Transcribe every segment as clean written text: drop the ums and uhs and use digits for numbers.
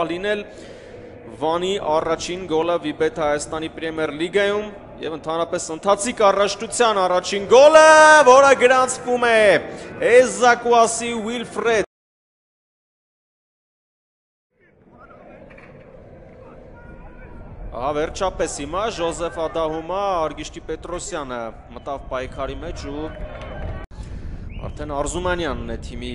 Լինել Վանի առաջին գոլը Վիբեթ Հայաստանի Պրեմիեր լիգայում եւ ընդհանրապես ընթացիկ առաջնության առաջին գոլը, որը գրանցվում է Էզակուասի Ուիլֆրեդ Վերջապես հիմա Ժոզեֆ Ադահումա Արգիշտի Պետրոսյանը մտավ պայքարի մեջ ու արդեն Արզումանյանն է թիմի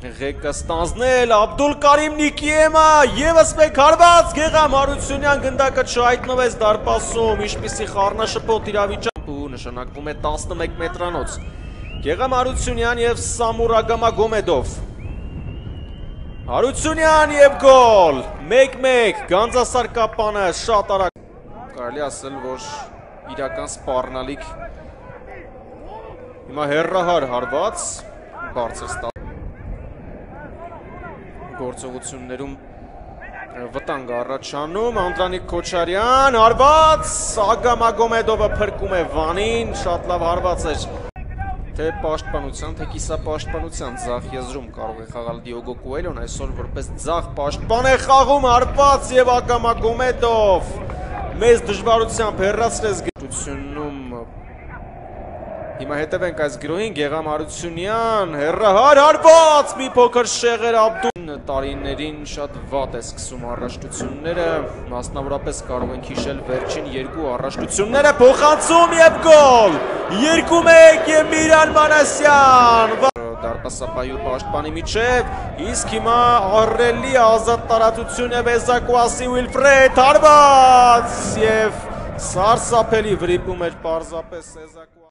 ղեկը ստանձնել, Աբդուլ Կարիմ Նիկիեմը եւս մեկ հարված, Գեգամ Հարությունյան գնդակը չհայտնվեց դարպասում, ինչպիսի խառնաշփոթ իրավիճակ ու նշանակվում է 11 մետրանոց։ Գեգամ Հարությունյան եւ Սամուր Ագամագոմեդով։ Հարությունյան եւ գոլ, 1-1, Գանձասարկապանը շատ արագ։ Կարելի ասել, որ իրական սպառնալիք։ Հիմա հերրահար հարված, բարձր ստա գործողություններում վտանգ առաջանում, Անդրանիկ Քոչարյան, հարված, Ագամագոմեդովը փրկում է Վանին, շատ լավ հարված էր, թե պաշտպանության, թե կիսապաշտպանության ձախ եզրում կարող է խաղալ Դիոգո Կուելյոն, այսօր որպես ձախ պաշտպան է խաղում, հարված եւ Ագամագոմեդով, մեծ դժվարությամբ հեռացրեց գիտությունում, հիմա հետևենք այս գրոհին, Գեգամ Հարությունյան, հեռահար հարված, մի փոքր շեղեր Աբդուլ տարիներին շատ վատ է սկսում առաջնությունները, մասնավորապես կարող ենք հիշել վերջին երկու առաջնությունները, փոխանցում եւ գոլ, 2-1 եւ Միրան Մանասյան, դարպասապահի ու պաշտպանի միջև, իսկ հիմա ահռելի ազատ տարածություն եւ Էզակուասի Ուիլֆրեդ հարված եւ սարսափելի վրիպում էր պարզապես Էզակուասի